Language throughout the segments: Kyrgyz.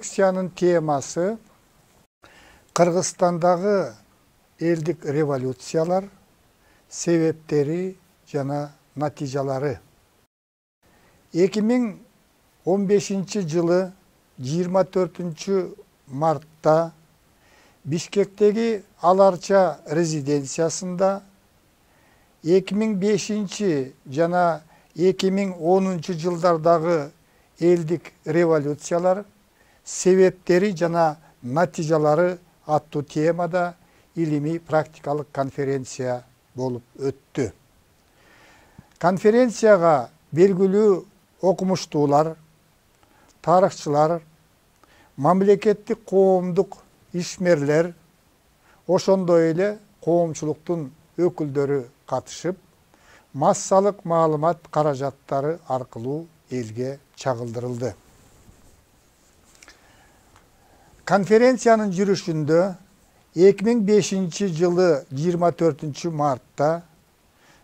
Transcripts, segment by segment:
лекциянын темасы Кыргызстандагы элдик революциялар, себептери жана натыйжалары. 2015 жылы 24 мартта Бишкектеги Аларча резиденциясында 2005 жана 2010 жылдардагы элдик революциялар, себептери жана натыйжалары аттуу темада илимий практикалык конференция болуп өттү. Конференцияга белгилүү окумуштуулар, тарыхчылар, мамлекеттик коомдук ишмерлер, ошондой эле коомчулуктун өкүлдөрү катышып, массалык маалымат каражаттары аркылуу элге чагылдырылды. Конференциянын жүрүшүндө 2005 жылы 24 мартта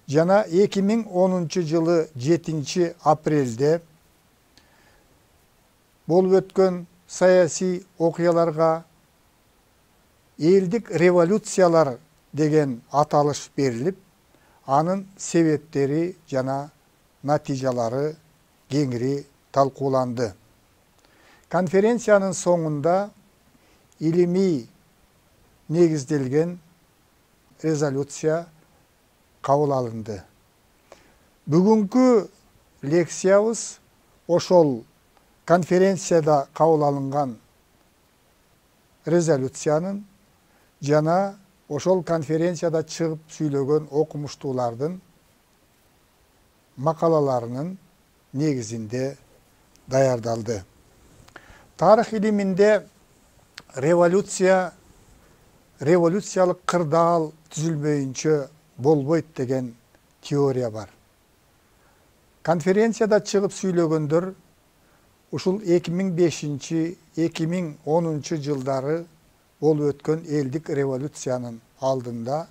жана 2010 жылы 7 апрелде болуп өткөн саясий окуяларга элдик революциялар деген аталыш берилип, анын себептери жана натыйжалары кеңири талкууланды. Конференциянын соңунда илимий негизделген резолюция кабыл алынды. Бүгүнкү лекциябыз ошол конференцияда кабыл алынган резолюциянын жана ошол конференцияда чыгып сүйлөгөн окумуштуулардын макалаларынын негизинде даярдалды. Тарых илиминде революциялык кырдаал түзүлмөйүнчө болбойт деген теория бар. Конференцияда чыгып сүйлөгөндөр ушул 2005-2010 жылдары болуп өткөн элдик революциянын алдында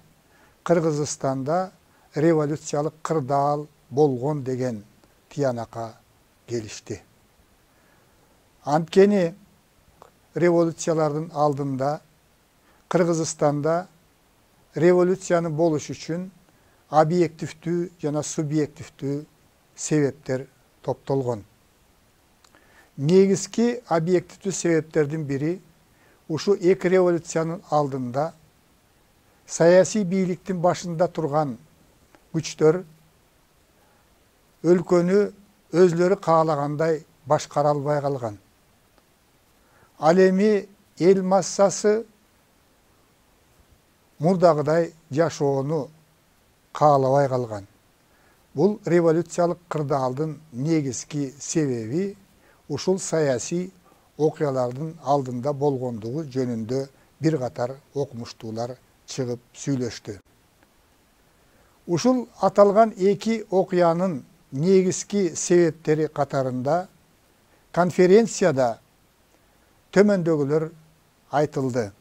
Кыргызстанда революциялык кырдаал болгон деген тыянакка келишти. Анткени революциялардын алдында Кыргызстанда революцияны болуш үчүн объективдүү жана субъективдүү себептер топтолгон. Негизги объективдүү себептердин бири ушу эки революциянын алдында саясий бийликтин башында турган күчтөр өлкөнү өзлөрү каалагандай башкара албай калган. Ал эми эл массасы мурдагыдай жашоону каалабай калган. Бул революциялык кырдаалдын негизги себеби ушул саясий окуялардын алдында болгондугу жөнүндө бир катар окумуштуулар чыгып сүйлөштү. Ушул аталган эки окуянын негизги себептери катарында конференцияда төмөндөгүлөр айтылды.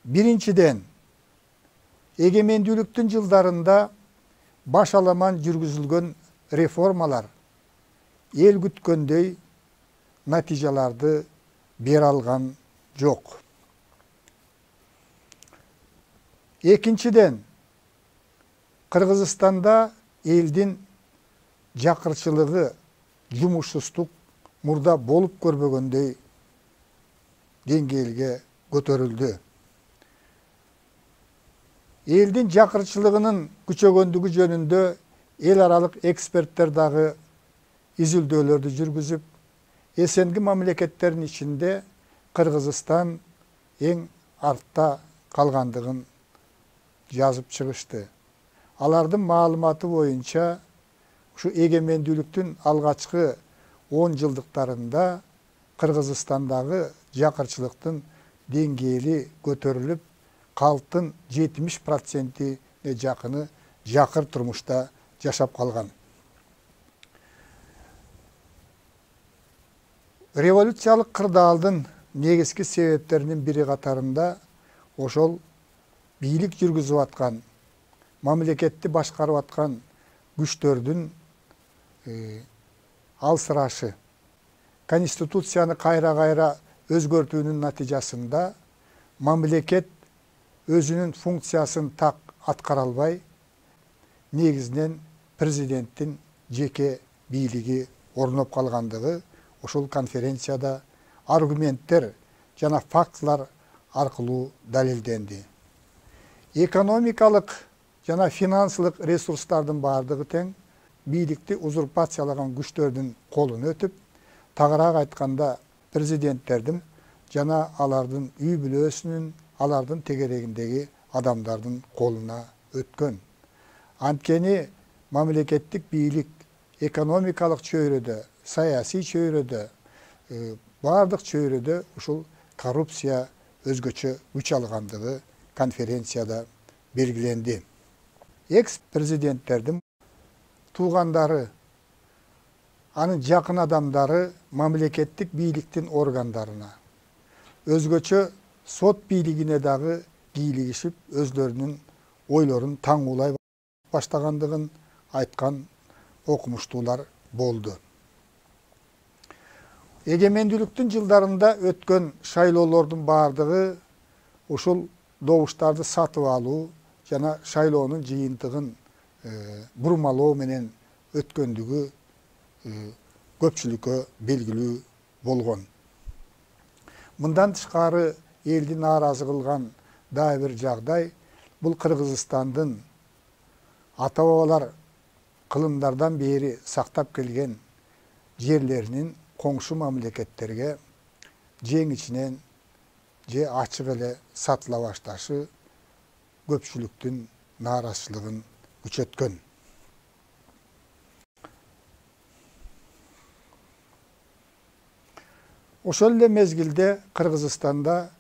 Биринчиден, эгемендүүлүктүн жылдарында башаламан жүргүзүлгөн реформалар эл күткөндөй натыйжаларды бере алган жок. Экинчиден, Кыргызстанда элдин жакырчылыгы, жумушсуздук мурда болуп көрбөгөндөй деңгээлге көтөрүлдү. Элдин жакырчылыгынын күчөгөндүгү жөнүндө эл аралык эксперттер дагы изилдөөлөрдү жүргүзүп, эсенги мамлекеттердин ичинде Кыргызстан эң артта калгандыгын жазып чыгышты. Алардын маалыматы боюнча ушу эгемендүүлүктүн алгачкы 10 жылдыктарында Кыргызстандагы жакырчылыктын деңгээли көтөрүлүп, калктын 70%-не жакыны жакыр турмушта жашап калган. Революциялык кырдаалдын негизги себептеринин бири катарында ошол бийлик жүргүзүп аткан, мамлекетти башкарып аткан күчтөрдүн алсырашы Конституцияны кайра өзгөртүүнүн натыйжасында мамлекет өзүнүн функциясын так аткара албай, негизинен президенттин жеке бийлиги орноп калгандыгы ушул конференцияда аргументтер жана фактылар аркылуу далилденди. Экономикалык жана финансылык ресурстардын бардыгы тең бийликти узурпациялаган күчтөрдүн колуна өтүп, тагыраак айтканда президенттердин жана алардын үй бүлөсүнүн, алардын тегерегиндеги адамдардын колуна өткөн. Анткени мамлекеттик бийлик экономикалык чөйрөдө, саясий чөйрөдө, бардык чөйрөдө ушул коррупция өзгөчө күч алгандыгы конференцияда белгиленди. Экс-президенттердин туугандары, анын жакын адамдары мамлекеттик бийликтин органдарына, өзгөчө сот бийлигине дагы кийлигишип, өзлөрүнүн ойлорун таңуулай баштагандыгын айткан окумуштуулар болду. Эгемендүүлүктүн жылдарында өткөн шайлоолордун бардыгы ушул добуштарды сатып алуу жана шайлоонун жыйынтыгын бурмалоо менен өткөндүгү көпчүлүккө белгилүү болгон. Мындан тышкары элди нааразы кылган дагы бир жагдай бул Кыргызстандын ата-бабалар кылымдардан бери сактап келген жерлеринин коңшу мамлекеттерге жең ичинен же ачык эле сатыла башташы көпчүлүктүн нааразычылыгын күчөткөн. Ошол эле мезгилде Кыргызстанда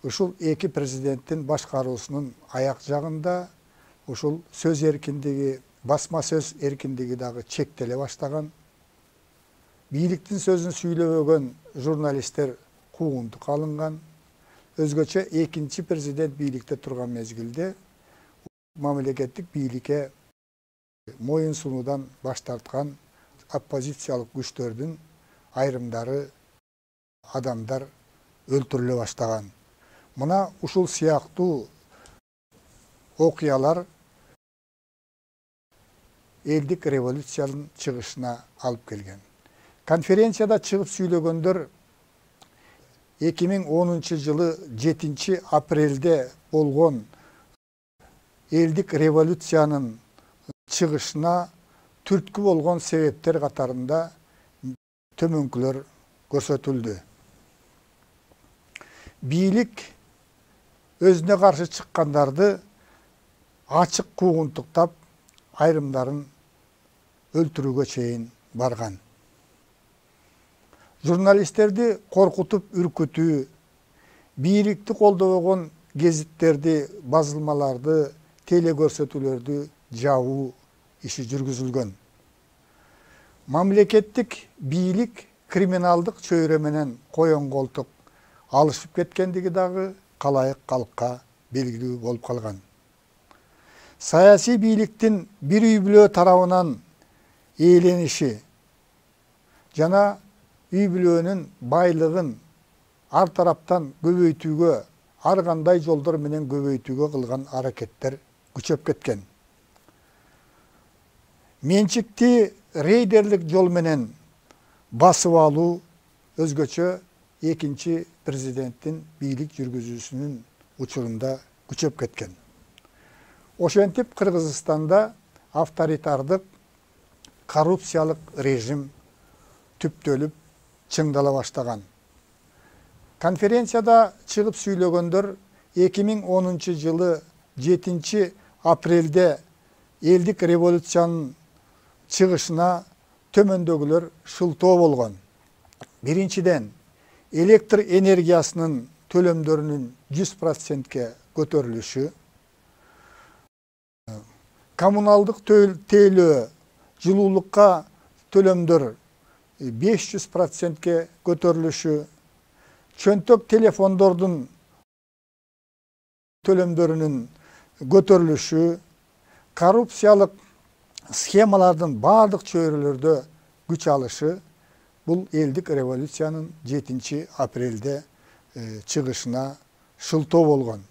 ушул эки президенттин башкаруусунун аяк жагында ушул сөз эркиндиги, басма сөз эркиндиги дагы чектеле баштаган. Бийликтин сөзүн сүйлөбөгөн журналисттер куугунтукка алынган. Өзгөчө экинчи президент бийликте турган мезгилде мамлекеттик бийликке моюн сунуудан баш тарткан оппозициялык күчтөрдүн айрымдары адамдар өлтүрүлө баштаган. Мына ушул сыяктуу окуялар элдик революциянын чыгышына алып келген. Конференцияда чыгып сүйлөгөндөр 2010 жылы 7 апрелде болгон элдик революциянын чыгышына түрткү болгон себептер катарында төмөнкүлөр көрсөтүлдү. Бийлик өзүнө каршы чыккандарды ачык куугунтуктап, айрымдарын өлтүрүүгө чейин барган. Журналисттерди коркутуп үркүтүү, бийликти колдобогон гезиттерди, базылмаларды, телекөрсөтүүлөрдү жабуу иши жүргүзүлгөн. Мамлекеттик бийлик криминалдык чөйрө менен коен колтук алышып кеткендиги дагы калайык калкка белгилүү болуп калган. Саясий бийликтин бир үй бүлө тарабынан ээлениши жана үй бүлөнүн байлыгын ар тараптан көбөйтүүгө, ар кандай жолдор менен көбөйтүүгө кылган аракеттер күчөп кеткен. Менчикти рейдерлик жол менен басып алуу өзгөчө экинчи президенттин бийлик жүргүзүүсүнүн учурунда күчөп кеткен. Ошентип Кыргызстанда авторитардык, коррупциялык режим түптөлүп чыңдала баштаган. Конференцияда чыгып сүйлөгөндөр 2010 жылы 7 апрелде элдик революциянын чыгышына төмөндөгүлөр шылтоо болгон. Биринчиден, электр энергиясынын төлөмдөрүнүн 100%ке көтөрүлүшү, коммуналдык тейлөө, жылуулукка төлөмдөр 500%ке көтөрүлүшү, чөнтөк телефондордун төлөмдөрүнүн көтөрүлүшү, коррупциялык схемалардын бардык чөйрөлөрдө күч алышы бул элдик революциянын 7 апрелде чыгышына шылтоо болгон.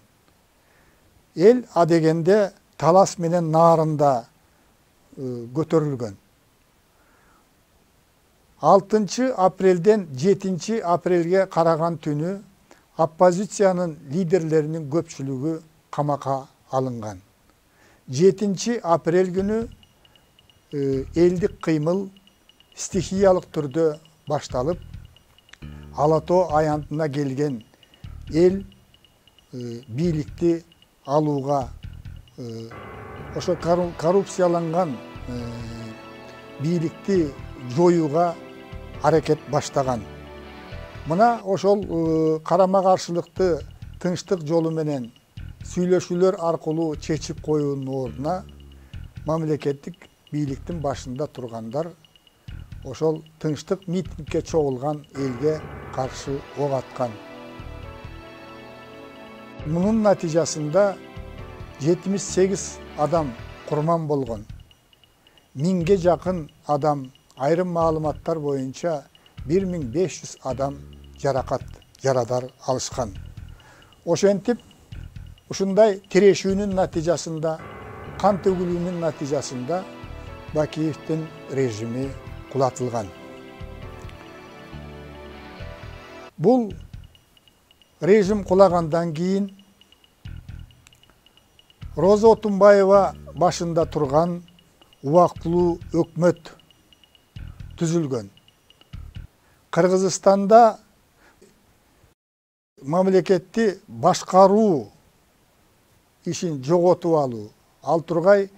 Эл адегенде талас менен наарында көтөрүлгөн. 6 апрелден 7 апрелге караган түнү оппозициянын лидерлеринин көпчүлүгү камакка алынган. 7 апрель күнү элдик кыймыл стихиялык түрдө башталып, Ала Тоо аянтына келген эл бийликти алууга, ошо коррупцияланган бийликти жоюуга аракет баштаган. Мына ошол карама каршылыкты тынчтык жолу менен сүйлөшүүлөр аркылуу чечип коюунун ордуна мамлекеттик бийликтин башында тургандар ошол тынчтык митингге чогулган элге каршы ок аткан. Мунун натыйжасында 78 адам курман болгон. 1000ге жакын адам, айрым маалыматтар боюнча 1500 адам жарадар алышкан. Ошентип, ушундай тирешүүнүн натыйжасында, кан төгүлүүнүн натыйжасында Бакиевдин режими кулатылган. Бул режим кулагандан кийин Роза Отунбаева башында турган убактылуу өкмөт түзүлгөн. Кыргызстанда мамлекетти башкаруу ишин жоготуп алуу, ал тургай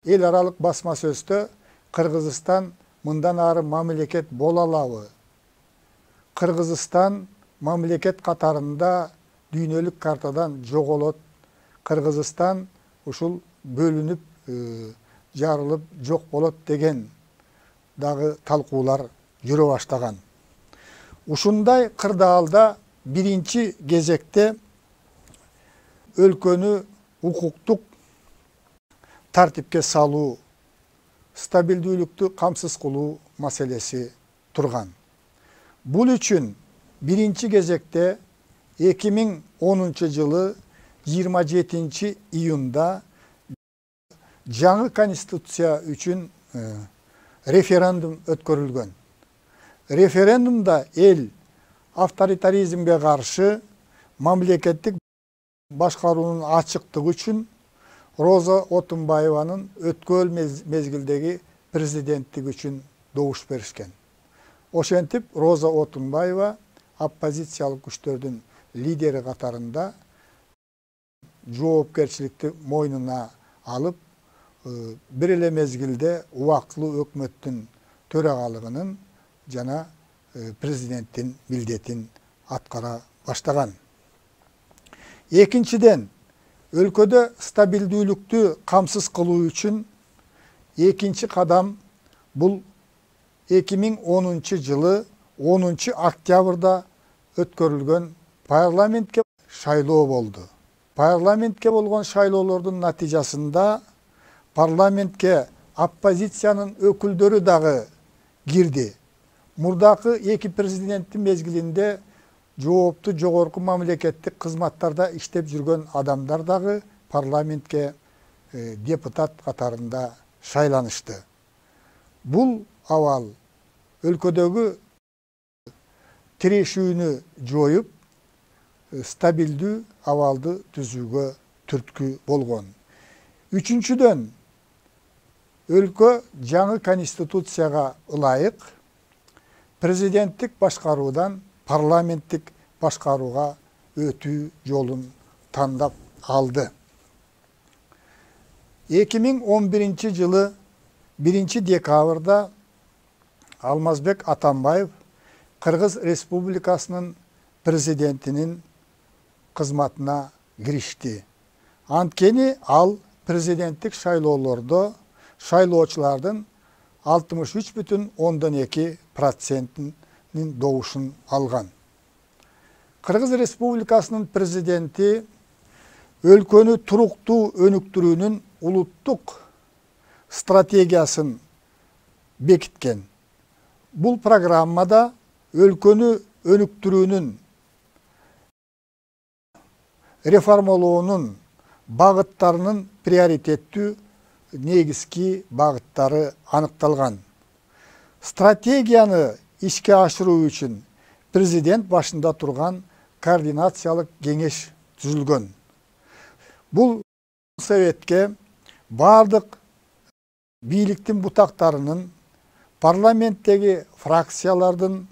эл аралык басма сөздө Кыргызстан мындан ары мамлекет боло алабы? Кыргызстан мамлекет катарында дүйнөлүк картадан жоголот. Кыргызстан ушул бөлүнүп, жарылып жок болот деген дагы талкуулар жүрө баштаган. Ушундай кырдаалда биринчи кезекте өлкөнү укуктук тартипке салуу, стабилдүүлүктү камсыз кылуу маселеси турган. Бул үчүн биринчи кезекте 2010 жылы 27 июнда жаңы конституция үчүн референдум өткөрүлгөн. Референдумда эл авторитаризмге каршы мамлекеттик башкаруунун ачыктыгы үчүн Роза Отунбаеванын өткөл мезгилдеги президенттиги үчүн добуш беришкен. Ошентип, Роза Отунбаева оппозициялык күчтөрдүн лидери катарында жоопкерчиликти мойнуна алып, бир эле мезгилде убактылуу өкмөттүн төрагалыгынын жана президенттин милдетин аткара баштаган. Экинчиден, өлкөдө стабилдүүлүктү камсыз кылуу үчүн экинчи кадам бул 2010 жылы 10 октябрда өткөрүлгөн парламентке шайлоо болду. Парламентке болгон шайлоолордун натыйжасында парламентке оппозициянын өкүлдөрү дагы кирди. Мурдакы эки президенттин мезгилинде жооптуу жогорку мамлекеттик кызматтарда иштеп жүргөн адамдар дагы парламентке депутат катарында шайланышты. Бул абал өлкөдөгү тирешүүнү жоюп, стабилдүү абалды түзүүгө түрткү болгон. Үчүнчүдөн, өлкө жаңы конституцияга ылайык президенттик башкаруудан парламенттик башкарууга өтүү жолун тандап алды. 2011 жылы 1 декабрда Алмазбек Атамбаев Кыргыз Республикасынын президентинин кызматына киришти. Анткени ал президенттик шайлоолордо шайлоочулардын 63,2%-нин добушун алган. Кыргыз Республикасынын президенти өлкөнү туруктуу өнүктүрүүнүн улуттук стратегиясын бекиткен. Бул программада өлкөнү өнүктүрүүнүн, реформалоонун багыттарынын приоритеттүү негизги багыттары аныкталган. Стратегияны ишке ашыруу үчүн президент башында турган координациялык кеңеш түзүлгөн. Бул советке бардык бийликтин бутактарынын, парламенттеги фракциялардын,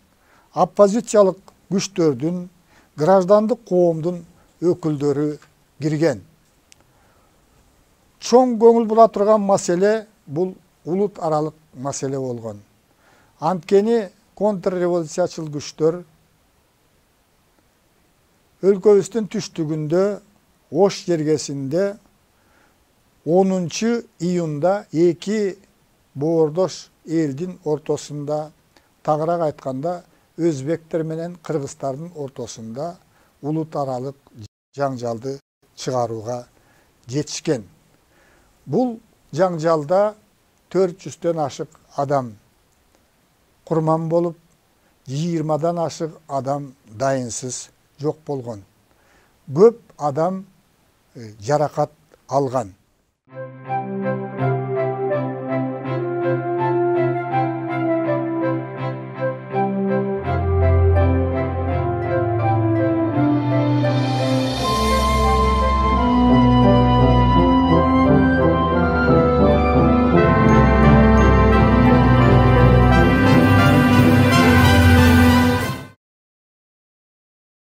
оппозициялык күчтөрдүн, граждандык коомдун өкүлдөрү кирген. Чоң көңүл була турган маселе бул улут аралык маселе болгон. Анткени контрреволюциячыл күчтөр өлкөбүздүн түштүгүндө Ош жергесинде 10 июнда эки боордош элдин ортосунда, тагыраак айтканда өзбектер менен кыргыздардын ортосунда улут аралык жаңжалды чыгарууга жетишкен. Бул жаңжалда 400дөн ашык адам курман болуп, 20дан ашык адам дайынсыз жок болгон. Көп адам жаракат алган.